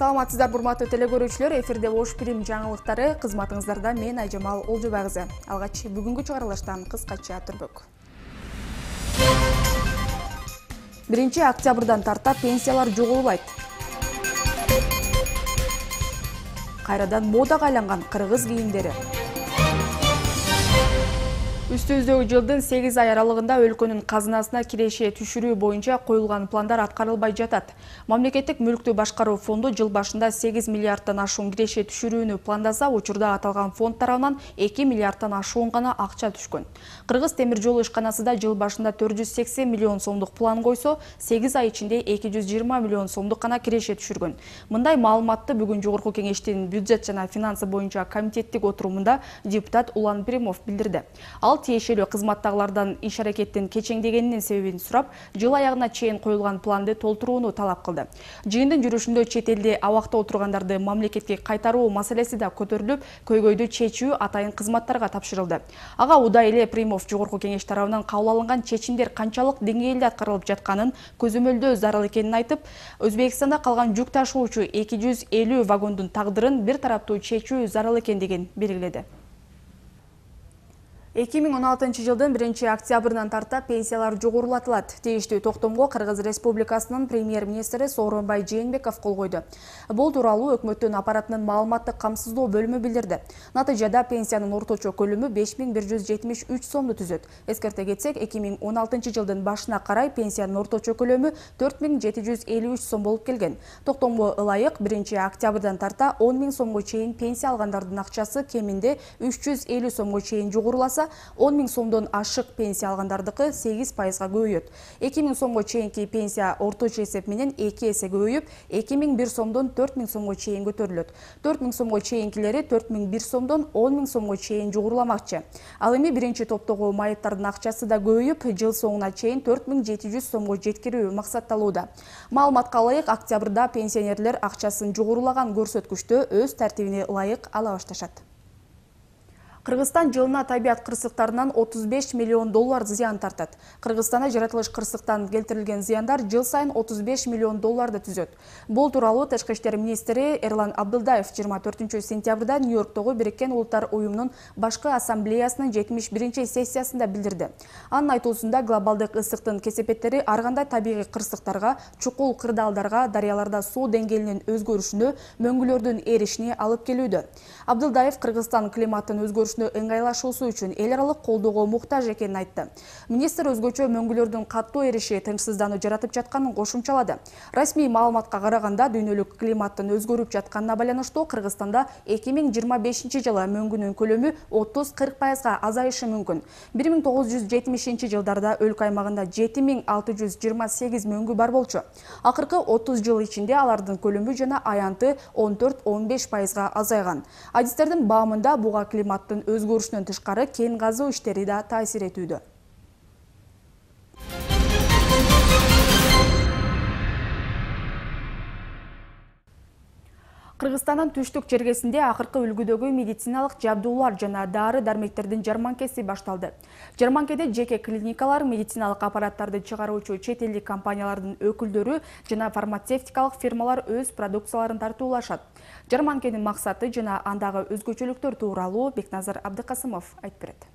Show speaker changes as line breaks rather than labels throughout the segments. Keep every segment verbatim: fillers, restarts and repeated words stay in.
Саламатсыздар, урматтуу телекөрүүчүлөр, эфирде Ош Прим жаңылыктары, кызматыңыздарда мен Айжамал Олжобай кызы. Алгач бүгүнкү чыгарылыштан кыскача түрбөк. биринчи октябрдан тарта пенсиялар жогорулайт. Кайрадан модага айланган кыргыз кийимдери. Үстүбүздөгү жылдын сегиз ай аралыгында өлкөнүн казынасына киреше түшүрүү боюнча коюлган пландар аткарылбай жатат. Мамлекеттик мүлктү башкаруу фонду жыл башында сегиз миллиардтан ашуун киреше түшүрүүнү пландаса, учурда аталган фонд тарабынан эки миллиардтан ашуун гана акча түшкөн. Кыргыз темир жолу ишканасы да жыл башында төрт жүз сексен миллион сомдук план койсо, сегиз ай ичинде эки жүз жыйырма миллион сомдук гана киреше түшүргөн. Мындай маалыматты бүгүн Жогорку Кеңештин бюджет жана финансы боюнча комитеттик отурумунда депутат Улан Пиримов билдирди. Ал тиешелүү кызматтагылардан иш аракеттин кечеңдегенинин себебин сурап, жыл аягына чейин коюлган планды толтурууну талап кылды. Жыйындын жүрүшүндө чет элде абакта отургандарды мамлекетке кайтаруу маселеси да көтөрүлүп, көйгөйдү чечүү атайын кызматтарга тапшырылды. Ага удай эле Пиримов Жогорку Кеңеш тарабынан кабыл алынган чечимдер канчалык деңгээлде аткарылып жатканын көзөмөлдөө зарыл экенин айтып, Өзбекстанда калган жүк ташуучу эки жүз элүү вагондун тагдырын бир тараптуу чечүү зарыл экендигин белгиледи. эки миң он алтынчы жылдын биринчи октябрынан тарта пенсиялар жогорулатылат. Тийиштүү токтомго Кыргыз Республикасынын премьер-министри Сооронбай Жээнбеков кол койду. Бул тууралуу өкмөттүн аппаратынын маалыматтык камсыздоо бөлүмү билдирди. Натыйжада пенсиянын орточо көлөмү беш миң бир жүз жетимиш үч сомду түзөт. Эскерте кетсек, эки миң он алтынчы жылдын башына карай пенсиянын орточо көлөмү төрт миң жети жүз элүү үч сом болуп келген. Токтомго ылайык биринчи октябрдан тарта он миң сомго чейин пенсия алгандардын акчасы кеминде үч жүз элүү сомго чейин жогоруласа, он миң сомдон ашык пенсия алгандардыкы сегиз пайызга көбөйөт. эки миң сомго чейинки пенсия орточо эсеп менен эки эсе көбөйүп, эки миң бир сомдон төрт миң сомго чейин көтөрүлөт. төрт миң сомго чейинкилери төрт миң бир сомдон он миң сомго чейин жогоруламакчы. Ал эми биринчи топтогу майыптардын акчасы да көбөйүп, жыл соңуна чейин төрт миң жети жүз сомго жеткирүү максатталууда. Маалыматка ылайык, октябрда пенсионерлер акчасын жогорулаган көрсөткүчтө өз тартибине ылайык ала башташат. Кыргызстан жылына табият кырсыктарынан отуз беш миллион доллар зыян тартат. Кыргызстанда жаратылыш кырсыктан келтирилген зыяндар жыл сайын отуз беш миллион долларды түзөт. Бул тууралуу Тышкы иштер министри Эрлан Абдылдаев жыйырма төртүнчү сентябрда Нью-Йорктогу Бириккен Улуттар уюмунун башкы ассамблеясынын жетимиш биринчи сессиясында билдирди. Анын айтуусунда глобалдык ысыктын кесепеттери ар кандай табигый кырсыктарга, чукул кырдаалдарга, дарыяларда суу деңгээлинин өзгөрүшүнө, мөңгүлөрдүн эришине алып келүүдө. Абдылдаев Кыргызстан климаттын өзгөрүшүнө ыңгайлашуусу үчүн эл аралык колдоого муктаж экенин айтты. Министр өзгөчө мөңгүлөрдүн каттуу эриши тынчсыздануу жаратып жатканын кошумчалады. Расмий маалыматка караганда, дүйнөлүк климаттын өзгөрүп жатканына байланыштуу Кыргызстанда эки миң жыйырма бешинчи жылы мөңгүнүн көлөмү отуз кырк пайызга азайышы мүмкүн. бир миң тогуз жүз жетимишинчи жылдарда өлкө аймагында жети миң алты жүз жыйырма сегиз мөңгү бар болчу. Акыркы отуз жыл ичинде алардын көлөмү жана аянты он төрт он беш пайызга азайган. Адистердин баамында буга климаттын өзгөрүшүнөн тышкары кен казуу иштери да таасир этүүдө. Кыргызстандын түштүк чергесинде акыркы үлгүдөгү медициналык жабдуулар жана дары-дармектердин жарманкеси башталды. Жарманкеде жеке клиникалар, медициналык аппараттарды чыгаруучу чет элдик компаниялардын өкүлдөрү жана фармацевтикалык фирмалар өз продукцияларын тартуулашат. Жарманкенин максаты жана андагы өзгөчөлүктөр тууралуу Бекназар Абдыкасымов айтып берет.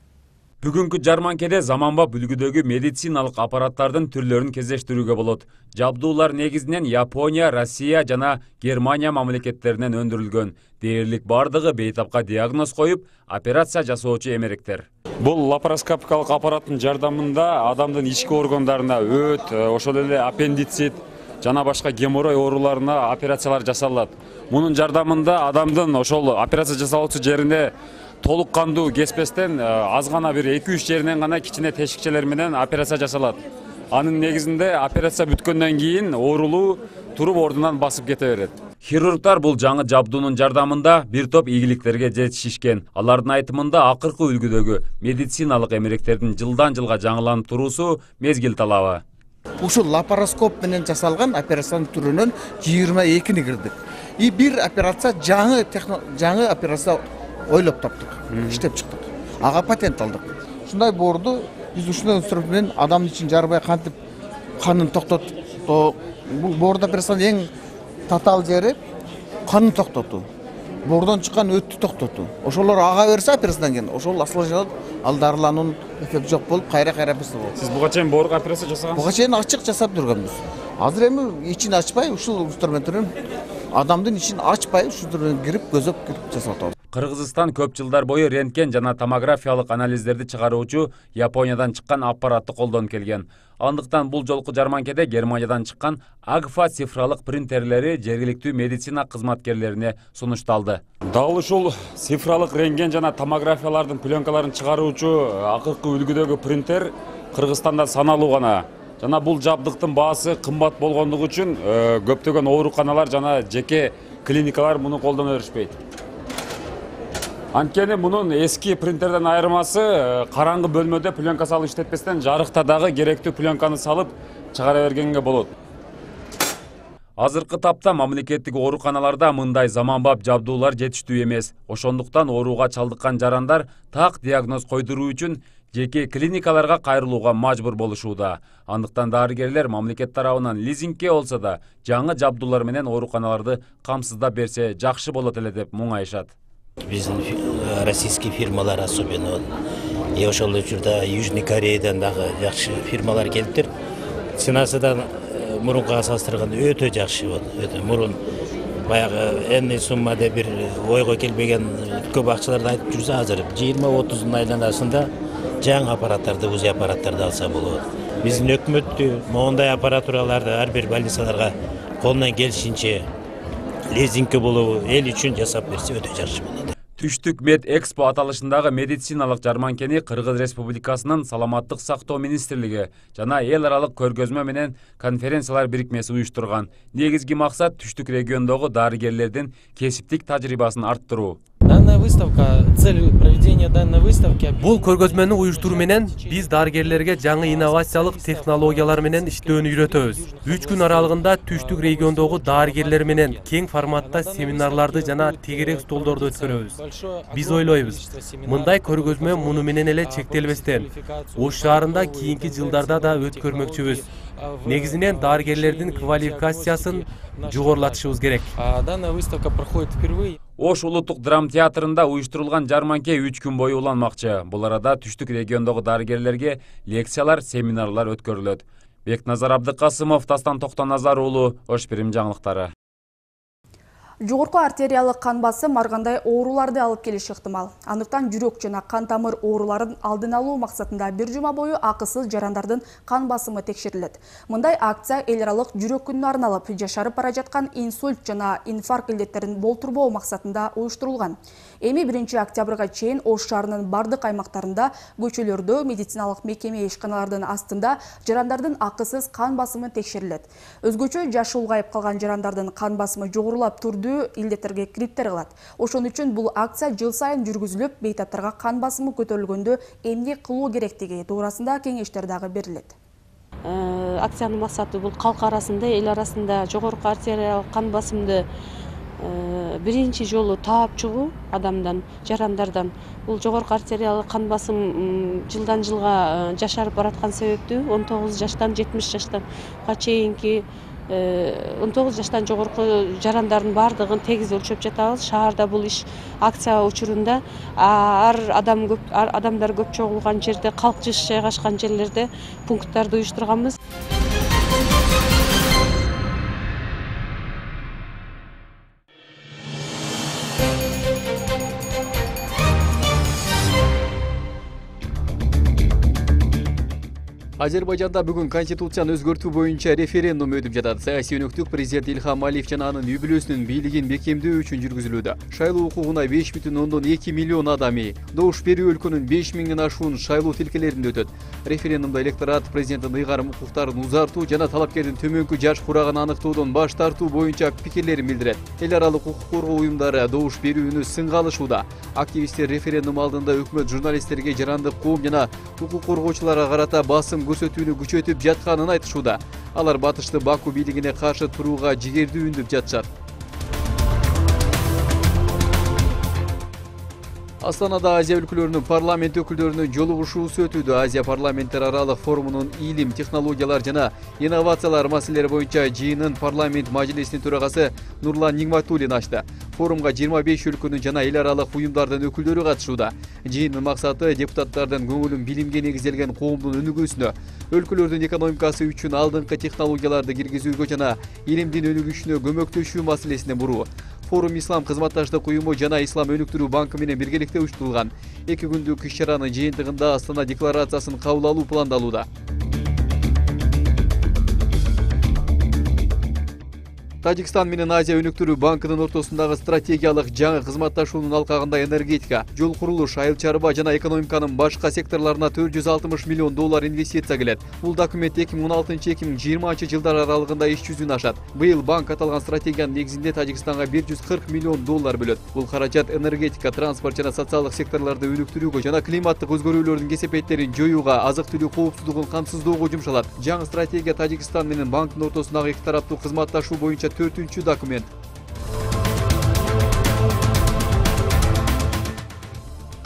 Бүгүнкү жарманкеде заманбап үлгүдөгү медициналык аппараттардын түрлөрүн кездештирүүгө болот. Жабдуулар негизинен Япония, Россия жана Германия мамлекеттеринен өндүрүлгөн. Дээрлик бардыгы бейтапка диагноз коюп, операция жасоочу эмеректер.
Бул лапароскопикалык аппараттын жардамында адамдын ички органдарына өт, ошол эле аппендицит жана башка геморрой ооруларына операциялар жасалат. Мунун жардамында адамдын ошол операция жасалуучу жерине толук кандуу кеспестен аз гана бир эки үч жеринен гана кичине тешикчелер менен операция жасалат. Анын негизинде операция бүткөндөн кийин оорулуу туруп ордунан басып кете берет.
Хирургдар бул жаңы жабдуунун жардамында бир топ ийгиликтерге жетишишкен. Алардын айтымында акыркы үлгүдөгү медициналык эмеректердин жылдан жылга жаңыланып туруусу мезгил талабы.
Ушул лапароскоп менен жасалган операциянын түрүнөн жыйырма экини кырдык. И бир операция жаңы жаңы операция ойлоп таптык, иштеп чыктык. Ага патент алдык. Ушундай боорду биз ушундай инструмент менен адамдын ичин жарбай кантип канын токтотуп, бул боордо операциянын эң татаал жери канын токтотуу, боордон чыккан өттү токтотуу. Ошолор ага берсе операциядан кийин ошол осложняланып, ал дарылануунун эффекти жок болуп, кайра кайра операция болот.
Сиз буга чейин боорго операция жасагансыз?
Буга чейин ачык жасап жүргөнбүз. Азыр эми ичин ачпай, ушул инструменттерин адамдын ичин ачпай, ушул кирип, көзөп кирип жасап атабыз.
Кыргызстан көп жылдар бою рентген жана томографиялык анализдерди чыгаруучу Япониядан чыккан аппаратты колдонуп келген. Андыктан бул жолку жарманкеде Германиядан чыккан Агфа цифралык принтерлери жергиликтүү медицина кызматкерлерине сунушталды.
Дал ушул цифралык рентген жана томографиялардын пленкаларын чыгаруучу акыркы үлгүдөгү принтер Кыргызстанда саналуу гана. Жана бул жабдыктын баасы кымбат болгондугу үчүн көптөгөн ооруканалар жана жеке клиникалар муну колдоно беришпейт. Анткени мунун эски принтерден айырмасы караңгы бөлмөдө пленка салып иштетпестен жарыкта дагы керектүү пленканы салып чыгара бергенге болот.
Азыркы тапта мамлекеттик ооруканаларда мындай заманбап жабдуулар жетиштүү эмес. Ошондуктан ооруга чалдыккан жарандар так диагноз койдуруу үчүн жеке клиникаларга кайрылууга мажбур болушууда. Андыктан дарыгерлер мамлекет тарабынан лизингке болсо да жаңы жабдуулар менен ооруканаларды камсыздап берсе жакшы болот эле деп муңайышат.
Биздин российский фирмалар особенно и ошол учурда Южный Кореядан дагы жакшы фирмалар келиптир. Ценасы да мурункуга салыштырганда өтө жакшы болду. Өтө мурун баягы энный сумма деп бир ойго келбеген көп акчаларды айтып жүрсө, азыр жыйырма отуздун айланасында жаңы аппараттарды, УЗИ аппараттарды алса болот. Биздин өкмөттү моундай аппаратураларды ар бир больницаларга колунан келишинче лизингке болобу эл үчүн жасап берсе өтө жакшы болот.
Түштүк Мед Экспо аталышындагы медициналык жарманкени Кыргыз Республикасынын Саламаттык сактоо министрлиги жана эл аралык көргөзмө менен конференциялар бирикмеси уюштурган. Негизги максат түштүк региондогу дарыгерлердин кесиптик тажрыйбасын арттыруу.
Данная выставка, цель проведения данной выставки.
Бул көргөзмөнү уюштуруу менен биз дарыгерлерге жаңы инновациялык технологиялар менен иштөөнү үйрөтөбүз. үч күн аралыгында түштүк региондогу дарыгерлер менен кең форматта семинарларды жана тегерек столдорду өткөрөбүз. Биз ойлойбуз, мындай көргөзмө муну менен эле чектелбестен, Ош шаарында кийинки жылдарда да өткөрмөкчүбүз. Негизинен дарыгерлердин квалификациясын жогорулатышыбыз керек.
Данная выставка проходит впервые.
Ош улуттук драма театрында уюштурулган жарманке үч күн бою уланмакчы. Бул арада түштүк региондогу дарыгерлерге лекциялар, семинарлар өткөрүлөт. Бекназар Абдыкасымов, Дастан Токтоназар уулу, Ош Бирим жаңылыктары.
Жогорку артериялык кан басым ар кандай ооруларды алып келиши ыктымал. Андыктан жүрөк жана кан тамыр ооруларын алдын алуу максатында бир жума бою акысыз жарандардын кан басымы текшерилет. Мындай акция эл аралык жүрөк күнүнө арналып, жашарып бара жаткан инсульт жана инфаркт илдеттерин болтурбоо максатында уюштурулган. Эми биринчи октябрга чейин Ош шаарынын бардык аймактарында, көчөлөрдө, медициналык мекеме ишканалардын астында жарандардын акысыз кан басымы текшерилет. Өзгөчө жашы улгайып калган жарандардын кан басымы жогорулап турду илдеттерге криптер кылат. Ошон үчүн бул акция жыл сайын жүргүзүлүп, бейтаптарга кан басымы көтөрүлгөндө эмне кылуу керектиги туурасында кеңештер дагы берилет.
Акциянын максаты бул калк арасында, эл арасында жогорку артериялык кан басымды биринчи жолу таап чыгуу адамдан, жарандардан. Бул жогорку артериялык кан басым жылдан жылга жашарып бараткан себептүү он тогуз жаштан жетимиш жаштан чейинки он тогуз жаштан жогорку жарандардын баардыгын тегиз өлчөп жатабыз. Шаарда бул иш акция учурунда ар адам көп, ар адамдар көп чогулган жерде, калк жыш жайгашкан жерлерде пункттарды уюштурганбыз.
Азербайжанда бүгүн конституцияны өзгөртүү боюнча референдум өтүп жатат. Саясий өнөктүк президент Илхам Алиев жана анын үй бүлөсүнүн бийлигин бекемдөө үчүн жүргүзүлүүдө. Шайлоо укугуна беш бүтүн ондон эки миллион адами, добуш берүү өлкөнүн беш миңден ашуун шайлоо тилкелеринде өтөт. Референдумда электорат президенттин ыйгарым укуктарын узартуу жана талапкердин төмөнкү жаш курагын аныктоодон баш тартуу боюнча пикирлерин билдирет. Эл аралык укук коргоо уюмдары добуш берүүнү сынга алышууда. Активисттер референдум алдында өкмөт журналисттерге, жарандык коом жана укук коргоочуларга карата басым көрсөтүүнү күчөтүп жатканын айтышууда. Алар батышты Баку бийлигине каршы турууга жигердүү үндөп жатышат. Астанада Азия өлкөлөрүнүн парламент өкүлдөрүнүн жолугушуусу өтүүдө. Азия парламенттер аралык форумунун илим, технологиялар жана инновациялар маселелери боюнча жыйынын парламент мажлисинин төрагасы Нурлан Нигматуллин ачты. Форумга жыйырма беш өлкөнүн жана эл аралык уюмдардын өкүлдөрү катышууда. Жыйындын максаты депутаттардын көңүлүн билимге негизделген коомдун өнүгүүсүнө, өлкөлөрдүн экономикасы үчүн алдыңкы технологияларды киргизүүгө жана илимдин өнүгүшүнө көмөктөшүү маселесине буруу. Форум Ислам кызматташтык уюму жана Ислам өнүктүрүү банкы менен биргеликте уюштурулган. Эки күндүк иш-чаранын жыйынтыгында Астана декларациясын кабыл алуу пландалууда. Тажикстан менен Азия өнүктүрүү банкынын ортосундагы стратегиялык жаңы кызматташуунун алкагында энергетика, жол курулуш, айыл чарба жана экономиканын башка секторларына төрт жүз алтымыш миллион доллар инвестиция келет. Бул документ эки миң он алтынчы эки миң жыйырманчы жылдар аралыгында иш жүзүнө ашат. Быйыл банк аталган стратегиянын негизинде Тажикстанга бир жүз кырк миллион доллар бөлөт. Бул каражат энергетика, транспорт жана социалдык секторлорду өнүктүрүүгө жана климаттык өзгөрүүлөрдүн кесепеттерин жоюуга, азык-түлүк коопсуздугун камсыздоого жумшалат. Жаңы стратегия Тажикстан менен банктын ортосундагы эки тараптуу кызматташуу боюнча төртүнчү документ.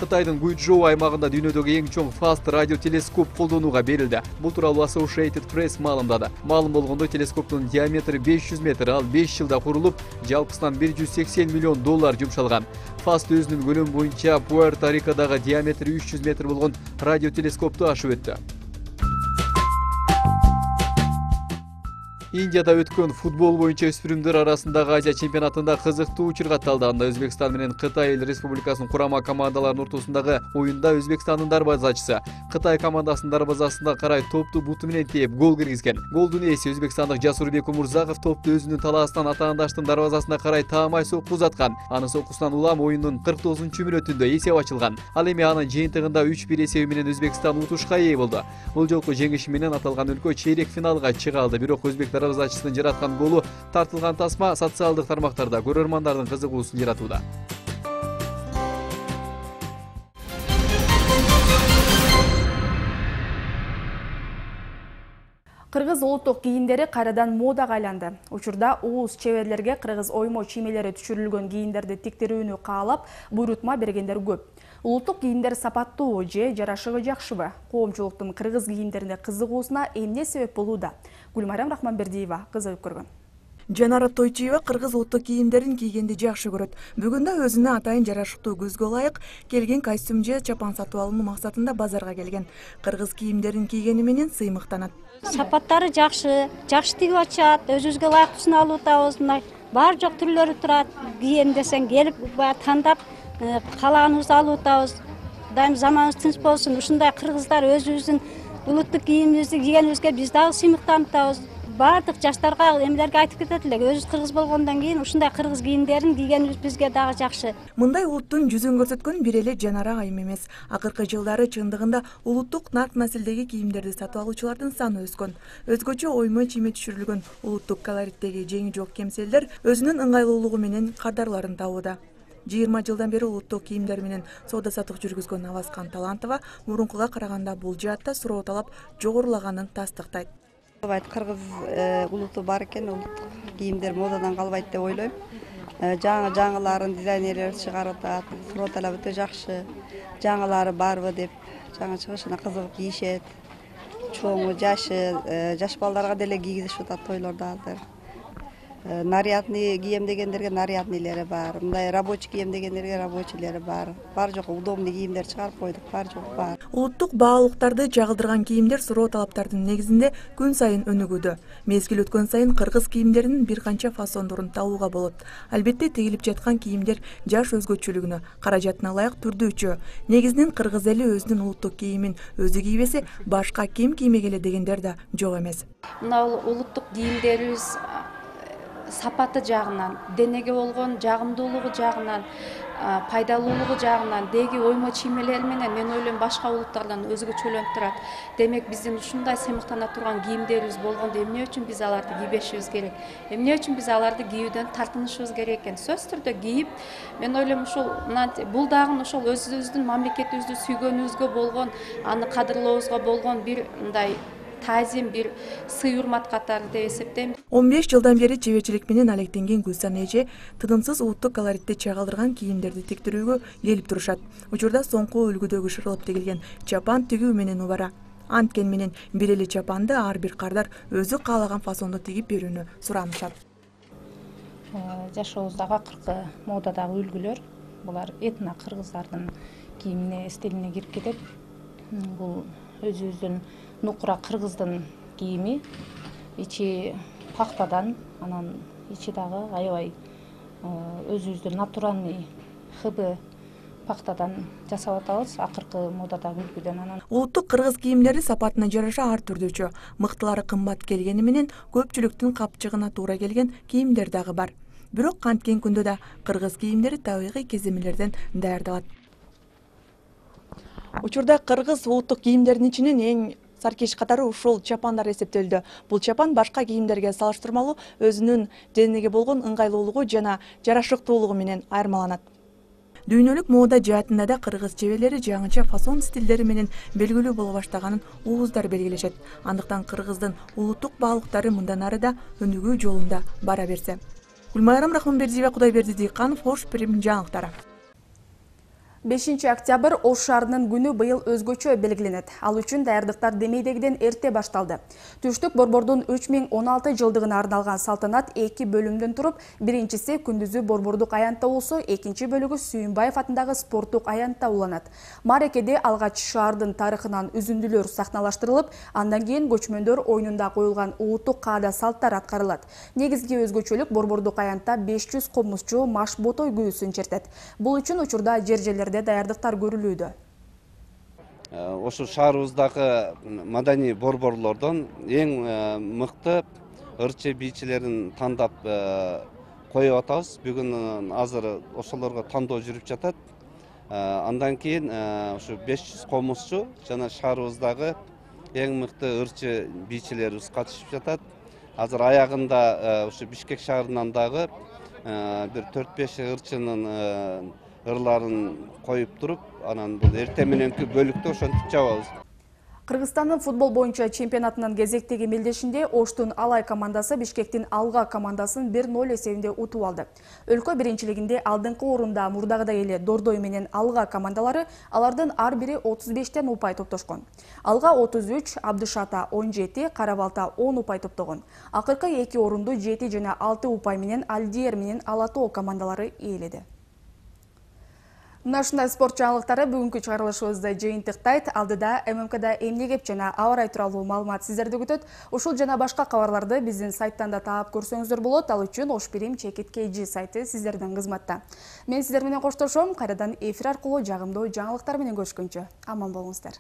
Кытайдын Гуйчжоу аймагында дүйнөдөгү эң чоң фаст радиотелескоп колдонууга берилди. Бул тууралуу Associated Press маалымдады. Маалым болгондой, телескоптун диаметри беш жүз метр, ал беш жылда курулуп, жалпысынан бир жүз сексен миллион доллар жумшалган. Фаст өзүнүн көлөмү боюнча Пуэрто-Рикодагы диаметри үч жүз метр болгон радиотелескопту ашып өттү. Индияда өткөн футбол боюнча өспүрүмдөр арасындагы Азия чемпионатында кызыктуу учур катталды. Анда Өзбекстан менен Кытай эл республикасынын курама командаларынын ортосундагы оюнда Өзбекстандын дарбазачысы Кытай командасынын дарбазасына карай топту буту менен тээп гол киргизген. Голдун ээси өзбекстандык Жасурбек Умурзаков топту өзүнүн талаасынан атаандаштын дарбазасына карай таамай сокку узаткан. Анын соккусунан улам оюндун кырк тогузунчу мүнөтүндө эсеп ачылган. Ал эми анын жыйынтыгында үч бир эсеби менен Өзбекстан утушка ээ болду. Бул жолку жеңиши менен аталган өлкө чейрек финалга чыга алды. Бирок өзбек дарбазачысынын жараткан голу тартылган тасма социалдык тармактарда көрөрмандардын кызыгуусун жаратууда.
Кыргыз улуттук кийимдери кайрадан модага айланды. Учурда уус чеберлерге кыргыз оймо чиймелери түшүрүлгөн кийимдерди тиктирүүнү каалап, буйрутма бергендер көп. Улуттук кийимдер сапаттуу же жарашыгы жакшыбы? Коомчулуктун кыргыз кийимдерине кызыгуусуна эмне себеп болууда? Гүлмайрам Рахманбердиева кызыгып көргөн.
Жанара Тойчиева кыргыз улуттук кийимдерин кийгенди жакшы көрөт. Бүгүн да өзүнө атайын жарашыктуу көзгө ылайык келген костюм же чапан сатып алуу максатында базарга келген. Кыргыз кийимдерин кийгени менен сыймыктанат.
Сапаттары жакшы, жакшы тигип ачат, өзүбүзгө ылайыктуусун алып атабыз. Бар жок түрлөрү турат. Кийем десең келип тандап каалаганыбызды алып атабыз. Дайым заманыбыз тынч болсун. Ушундай кыргыздар өзүбүздүн улуттук кийимибизди кийгенибизге биз дагы сыймыктанып атабыз. Бардык жаштарга эмелерге айтып кетет элек. Өзүбүз кыргыз болгондон кийин ушундай кыргыз кийимдерин кийгенибиз бизге дагы жакшы.
Мындай улуттун жүзүн көрсөткөн бир эле Жанара айым эмес. Акыркы жылдары чындыгында улуттук нарк населдеги кийимдерди сатып алуучулардын саны өскөн. Өзгөчө оймо чийме түшүрүлгөн улуттук колориттеги жеңи жок кемселдер өзүнүн ыңгайлуулугу менен кардарларын табууда. жыйырма жылдан бери улуттук кийимдер менен соода саттык жүргүзгөн Аваскан Талантова мурункуга караганда бул жаатта суроо талап жогорулаганын тастыктайт.
Кыргыз улуту бар экен, улуттук кийимдер модадан калбайт деп ойлойм. Жаңы жаңыларын дизайнерлер чыгарып атат, суроо талап өтө жакшы. Жаңылары барбы деп жаңы чыгышына кызыгып кийишет. Чоңу, жашы, жаш балдарга деле кийгизишип атат тойлордо азыр. Нарядный кийем дегендерге нарядныйлери бар, мындай рабочий кийем дегендерге рабочийлери бар. Бар жок удобный кийимдер чыгарып койдук, бар жок бар.
Улуттук баалуулуктарды жагылдырган кийимдер суроо талаптардын негизинде күн сайын өнүгүүдө. Мезгил өткөн сайын кыргыз кийимдеринин бир канча фасондорун табууга болот. Албетте тигилип жаткан кийимдер жаш өзгөчөлүгүнө, каражатына ылайык түрдүүчү. Негизинен кыргыз эли өзүнүн улуттук кийимин өзү кийбесе, башка ким киймегеле дегендер да жок эмес.
Мына улуттук кийимдерибиз сапаты жагынан, денеге болгон жагымдуулугу жагынан, пайдалуулугу жагынан, деги оймо чиймелери менен мен ойлойм башка улуттардан өзгөчөлөнүп турат. Демек биздин ушундай сыймыктана турган кийимдерибиз болгондо эмне үчүн биз аларды кийбешибиз керек? Эмне үчүн биз аларды кийүүдөн тартынышыбыз керек экен? Сөзсүз түрдө кийип, мен ойлойм ушул бул дагы ошол өзүбүздүн мамлекетибизди сүйгөнүбүзгө болгон, аны кадырлообузга болгон бир мындай
таазим, бир сый урмат катары деп эсептейм.
он беш жылдан бери чеберчилик менен алектенген Гүлсан эже тынымсыз улуттук колоритти чагылдырган кийимдерди тиктирүүгө келип турушат. Учурда соңку үлгүдөгү шырылып тигилген чапан тигүү менен убара. Анткен менен бир эле чапанды ар бир кардар өзү каалаган фасондо тигип берүүнү суранышат.
Жашообуздагы акыркы модадагы үлгүлөр булар этно кыргыздардын кийимине, стилине кирип кетет. Бул өзүбүздүн нукура кыргыздын кийими, ичи пахтадан, анан ичи дагы аябай өзүбүздүн натуральный хыбы пахтадан жасап атабыз, акыркы модадагы үлгүдөн. Анан
улуттук кыргыз кийимдери сапатына жараша ар түрдүүчө, мыктылары кымбат келгени менен көпчүлүктүн капчыгына туура келген кийимдер дагы бар. Бирок канткен күндө да кыргыз кийимдери табигый кеземелерден даярдалат. Учурда кыргыз улуттук кийимдеринин ичинен эң саркеш катары ушул чапандар эсептелди. Бул чапан башка кийимдерге салыштырмалуу өзүнүн денеге болгон ыңгайлуулугу жана жарашыктуулугу менен айырмаланат. Дүйнөлүк мода жаатында да кыргыз чеберлери жаңыча фасон стилдери менен белгилүү боло баштаганын ууздар белгилешет. Андыктан кыргыздын улуттук баалыктары мындан ары да өнүгүү жолунда бара берсе. Гүлмайрам Рахманбердиева, Кудайберди Дыйканов, Ош Прим жаңылыктары.
бешинчи октябрь Ош шаарынын күнү быйыл өзгөчө белгиленет. Ал үчүн даярдыктар демейдегиден эрте башталды. Түштүк борбордун үч миң он алты жылдыгына арналган салтанат эки бөлүмдөн туруп, биринчиси күндүзү борбордук аянтта болсо, экинчи бөлүгү Сүйүнбаев атындагы спорттук аянтта уланат. Марекеде алгач шаардын тарыхынан үзүндүлөр сахналаштырылып, андан кийин көчмөндөр оюнунда коюлган улуттук каада салттар аткарылат. Негизги өзгөчөлүк борбордук аянтта беш жүз комузчу маш ботой күүсүн чертет. Бул үчүн учурда жер-жерлер даярдыктар көрүлүүдө.
Ошу шаарыбыздагы маданий борборлордон эң мыкты ырчы бийчилерин тандап коюп атабыз. Бүгүн азыр ошолорго тандоо жүрүп жатат. Андан кийин ушу беш жүз комузчу жана шаарыбыздагы эң мыкты ырчы бийчилерибиз катышып жатат. Азыр аягында ушу Бишкек шаарынан дагы бир төрт беш ырчынын ырларын коюп туруп, анан бул эртең мененки бөлүктө ошентип жабабыз.
Кыргызстандын футбол боюнча чемпионатынын кезектеги мелдешинде Оштун Алай командасы Бишкектин Алга командасын бир ноль эсебинде утуп алды. Өлкө биринчилигинде алдыңкы орунда мурдагыдай эле Дордой менен Алга командалары, алардын ар бири отуз бештен упай топтошкон. Алга отуз үч, Абдышата он жети, Карабалта он упай топтогон. Акыркы эки орунду жети жана алты упай менен Алдиер менен Ала Тоо командалары ээледи. Мына ушундай спорт жаңылыктары бүгүнкү чыгарылышыбызды жыйынтыктайт. Алдыда эм эм кда эмне кеп жана аба ырайы тууралуу маалымат сиздерди күтөт. Ушул жана башка кабарларды биздин сайттан да таап көрсөңүздөр болот. Ал үчүн Ош Прим Чекит кей жи сайты сиздердин кызматта. Мен сиздер менен коштошом. Кайрадан эфир аркылуу жагымдуу жаңылыктар менен көрүшкөнчө аман болуңуздар.